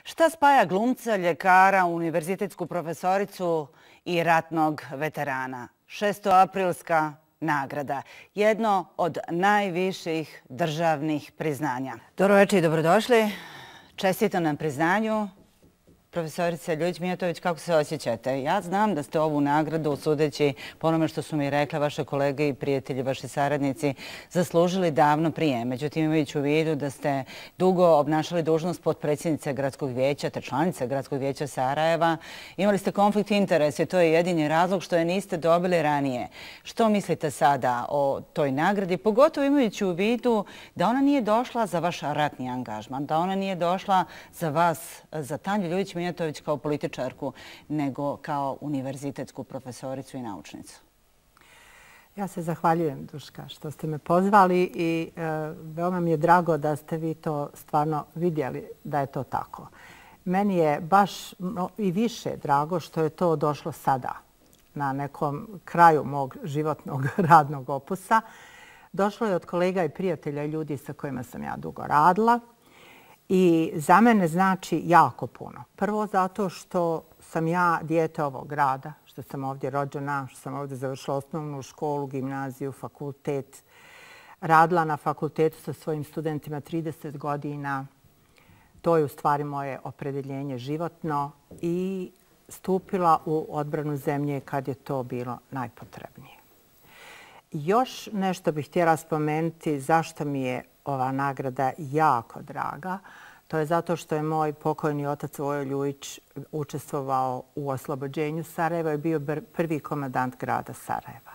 Šta spaja glumca, ljekara, univerzitetsku profesoricu i ratnog veterana? 6. aprilska nagrada. Jedno od najviših državnih priznanja. Dobro večer i dobrodošli. Čestitam na priznanju. Profesorice Ljubić Mijatović, kako se osjećate? Ja znam da ste ovu nagradu, sudeći po onome što su mi rekle vaše kolege i prijatelji, vaši saradnici, zaslužili davno prije. Međutim, imajući u vidu da ste dugo obnašali dužnost potpredsjednice Gradskog vijeća, te članice Gradskog vijeća Sarajeva, imali ste konflikt interesa i to je jedini razlog što je niste dobili ranije. Što mislite sada o toj nagradi, pogotovo imajući u vidu da ona nije došla za vaš ratni angažman, da ona nije došla za vas, za Tanju Ljubić Mijatović kao političarku, nego kao univerzitetsku profesoricu i naučnicu? Ja se zahvaljujem, Duška, što ste me pozvali i veoma mi je drago da ste vi to stvarno vidjeli da je to tako. Meni je baš i više drago što je to došlo sada, na nekom kraju mog životnog radnog opusa. Došlo je od kolega i prijatelja i ljudi sa kojima sam ja dugo radila. I za mene znači jako puno. Prvo zato što sam ja dijete ovog grada, što sam ovdje rođena, što sam ovdje završila osnovnu školu, gimnaziju, fakultet. Radila na fakultetu sa svojim studentima 30 godina. To je u stvari moje opredjeljenje životno i stupila u odbranu zemlje kad je to bilo najpotrebnije. Još nešto bih htjela spomenuti zašto mi je ova nagrada jako draga. To je zato što je moj pokojni otac Vojo Ljujić učestvovao u oslobođenju Sarajeva i bio prvi komandant grada Sarajeva.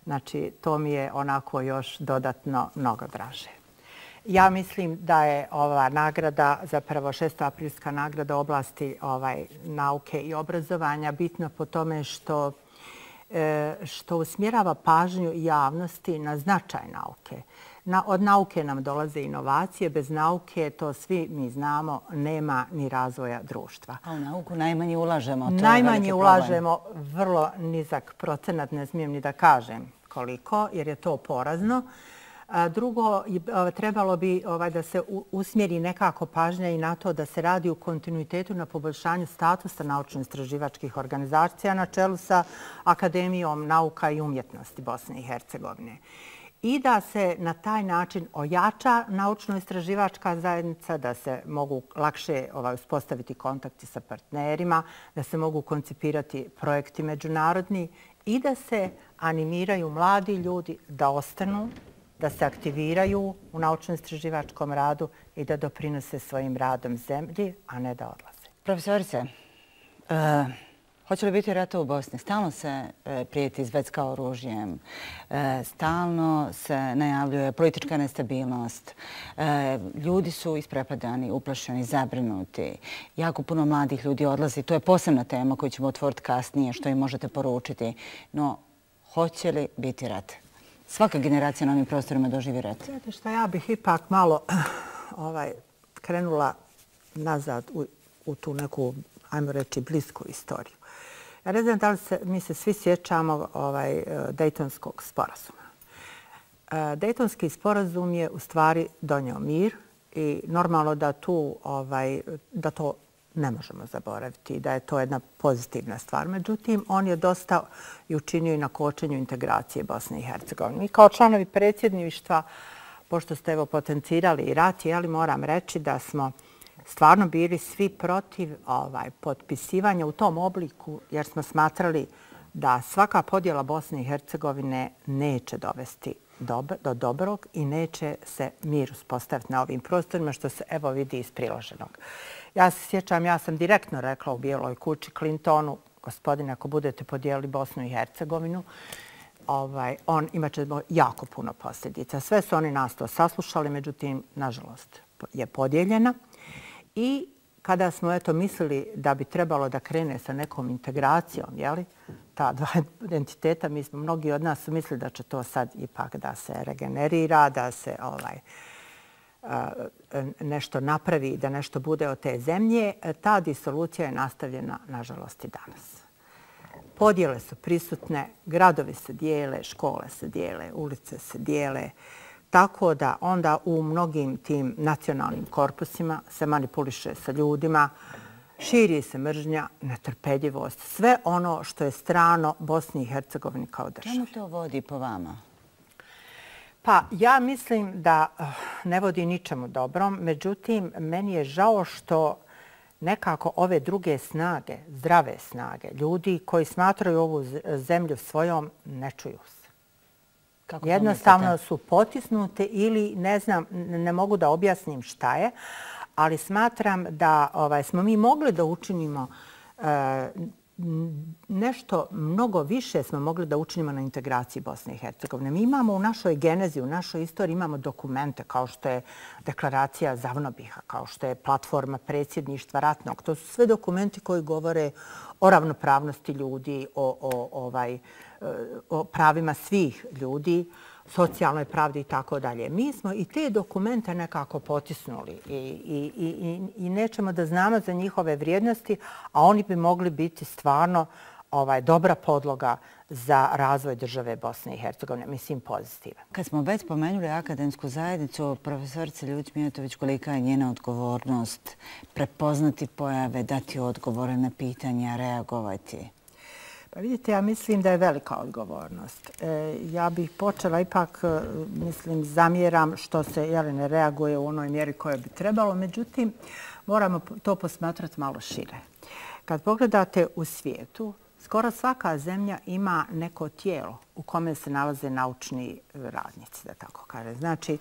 Znači, to mi je onako još dodatno mnogo draže. Ja mislim da je ova nagrada, zapravo 6. aprilska nagrada u oblasti nauke i obrazovanja, bitna po tome što usmjerava pažnju javnosti na značaj nauke. Od nauke nam dolaze inovacije. Bez nauke, to svi mi znamo, nema ni razvoja društva. A u nauku najmanje ulažemo. Najmanje ulažemo, vrlo nizak procenat, ne smijem ni da kažem koliko, jer je to porazno. Drugo, trebalo bi da se usmjeri nekako pažnja i na to da se radi u kontinuitetu na poboljšanju statusa naučno-istraživačkih organizacija na čelu sa Akademijom nauka i umjetnosti Bosne i Hercegovine. I da se na taj način ojača naučno-istraživačka zajednica, da se mogu lakše uspostaviti kontakti sa partnerima, da se mogu koncipirati projekti međunarodni i da se animiraju mladi ljudi da ostanu, da se aktiviraju u naučno-istraživačkom radu i da doprinose svojim radom zemlji, a ne da odlaze. Profesorice, hoće li biti rata u Bosni? Stalno se prijeti izvecka oružjem, stalno se najavljuje politička nestabilnost. Ljudi su isprepadani, uplašeni, zabrinuti. Jako puno mladih ljudi odlazi. To je posebna tema koju ćemo otvoriti kasnije, što im možete poručiti. No, hoće li biti rat? Svaka generacija na ovim prostorima doživi rat. Znate što, ja bih ipak malo krenula nazad u tu neku, ajmo reći, blisku istoriju. Ja ne znam da li mi se svi sjećamo Dejtonskog sporazuma. Dejtonski sporazum je u stvari donio mir i normalno da to ne možemo zaboraviti i da je to jedna pozitivna stvar. Međutim, on je dosta i učinio i na kočenju integracije Bosne i Hercegovine. Mi kao članovi predsjedništva, pošto ste potencirali i rat, moram reći da smo stvarno bili svi protiv potpisivanja u tom obliku, jer smo smatrali da svaka podjela Bosne i Hercegovine neće dovesti do dobrog i neće se mir uspostaviti na ovim prostorima, što se evo vidi iz priloženog. Ja se sjećam, ja sam direktno rekla u Bijeloj kući Clintonu, gospodine, ako budete podijelili Bosnu i Hercegovinu, imat će jako puno posljedica. Sve su oni nas to saslušali, međutim, nažalost, je podijeljena. I kada smo mislili da bi trebalo da krene sa nekom integracijom, ta dva entiteta, mnogi od nas su mislili da će to sad ipak da se regenerira, da se nešto napravi, da nešto bude od te zemlje. Ta disolucija je nastavljena, nažalost, i danas. Podjele su prisutne, gradovi se dijele, škole se dijele, ulice se dijele. tako da onda u mnogim tim nacionalnim korpusima se manipuliše sa ljudima, širi se mržnja, netrpeljivost, sve ono što je strano Bosni i Hercegovini kao državi. Čemu to vodi po vama? Pa ja mislim da ne vodi ničemu dobrom, međutim, meni je žao što nekako ove druge snage, zdrave snage, ljudi koji smatraju ovu zemlju svojom, ne čuju se. Jednostavno su potisnute ili ne znam, ne mogu da objasnim šta je, ali smatram da smo mi mogli da učinimo nešto mnogo više smo mogli da učinimo na integraciji Bosne i Hercegovine. Mi imamo u našoj genezi, u našoj istoriji imamo dokumente kao što je deklaracija Zavnobiha, kao što je platforma predsjedništva ratnog. To su sve dokumenti koji govore o ravnopravnosti ljudi, o pravima svih ljudi, socijalnoj pravdi i tako dalje. Mi smo i te dokumente nekako potisnuli i nećemo da znamo za njihove vrijednosti, a oni bi mogli biti stvarno dobra podloga za razvoj države Bosne i Hercegovine, mislim pozitivan. Kad smo već spomenuli akademsku zajednicu, profesorice Ljubić Mijatović, kolika je njena odgovornost prepoznati pojave, dati odgovore na pitanja, reagovati? Pa vidite, ja mislim da je velika odgovornost. Ja bih počela ipak, zamjeram što se ne reaguje u onoj mjeri koje bi trebalo, međutim, moramo to posmatrati malo šire. Kad pogledate u svijetu, skoro svaka zemlja ima neko tijelo u kome se nalaze naučni radnici, da tako kažem. Znači,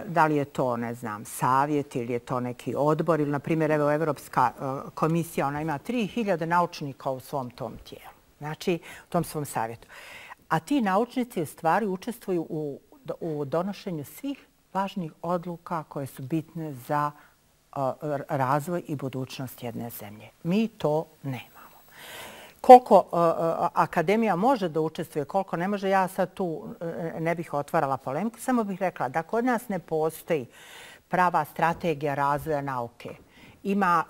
da li je to, ne znam, savjet ili je to neki odbor ili, na primjer, evo, Evropska komisija, ona ima 3000 naučnika u svom tom tijelu. Znači, u tom svom savjetu. A ti naučnici u stvari učestvuju u donošenju svih važnih odluka koje su bitne za razvoj i budućnost jedne zemlje. Mi to nemamo. Koliko akademija može da učestvuje, koliko ne može, ja sad tu ne bih otvarala polemiku, samo bih rekla da kod nas ne postoji prava strategija razvoja nauke.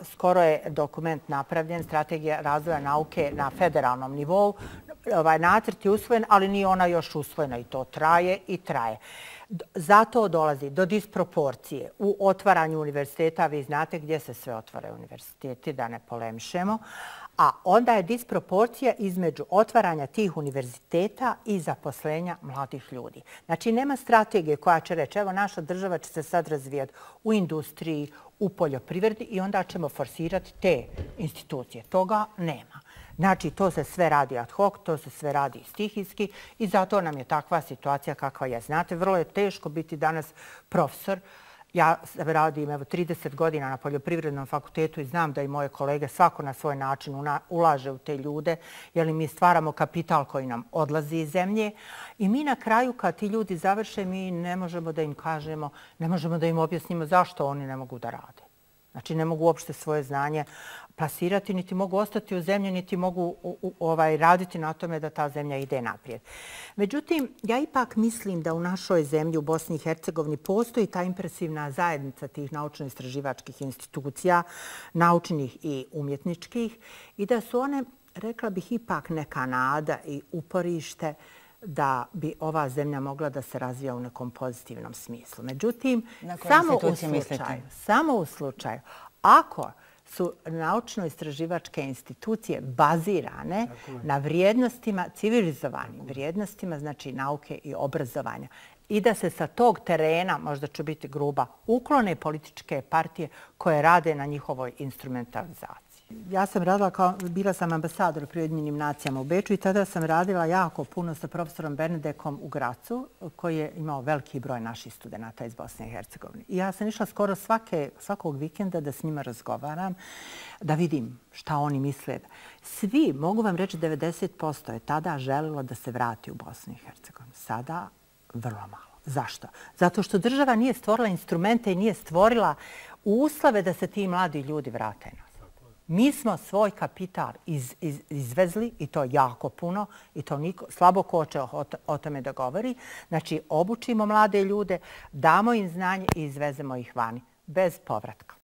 Skoro je dokument napravljen, strategija razvoja nauke na federalnom nivou. Nacrt je usvojen, ali nije ona još usvojena i to traje i traje. Zato dolazi do disproporcije u otvaranju univerziteta. Vi znate gdje se sve otvaraju univerziteti, da ne polemišemo. A onda je disproporcija između otvaranja tih univerziteta i zaposlenja mladih ljudi. Znači, nema strategije koja će reći, evo, naša država će se sad razvijati u industriji, u poljoprivredi i onda ćemo forsirati te institucije. Toga nema. Znači, to se sve radi ad hoc, to se sve radi stihijski i zato nam je takva situacija kakva je. Znate, vrlo je teško biti danas profesor. Ja radim 30 godina na poljoprivrednom fakultetu i znam da i moje kolege svako na svoj način ulaže u te ljude, jer mi stvaramo kapital koji nam odlazi iz zemlje. I mi na kraju, kad ti ljudi završe, mi ne možemo da im kažemo, ne možemo da im objasnimo zašto oni ne mogu da rade. Znači, ne mogu uopšte svoje znanje plasirati, niti mogu ostati u zemlji, niti mogu raditi na tome da ta zemlja ide naprijed. Međutim, ja ipak mislim da u našoj zemlji, u Bosni i Hercegovini, postoji ta impresivna zajednica tih naučno-istraživačkih institucija, naučnih i umjetničkih, i da su one, rekla bih, ipak neka nada i uporište da bi ova zemlja mogla da se razvija u nekom pozitivnom smislu. Međutim, samo u slučaju, ako su naučno-istraživačke institucije bazirane na vrijednostima, civilizovanim vrijednostima, znači nauke i obrazovanja, i da se sa tog terena, možda ću biti gruba, uklone političke partije koje rade na njihovoj instrumentalizaciji. Ja sam radila bila sam ambasador pri Ujedinjenim nacijama u Beču i tada sam radila jako puno sa profesorom Bernedekom u Gracu, koji je imao veliki broj naših studenata iz Bosne i Hercegovine. I ja sam išla skoro svakog vikenda da s njima razgovaram, da vidim šta oni misle. Svi, mogu vam reći, 90% je tada želilo da se vrati u Bosnu i Hercegovinu. Sada vrlo malo. Zašto? Zato što država nije stvorila instrumente i nije stvorila uslove da se ti mladi ljudi vrate nazad. Mi smo svoj kapital izvezli i to jako puno i to slabo ko će o tome da govori. Znači, obučimo mlade ljude, damo im znanje i izvezemo ih vani bez povratka.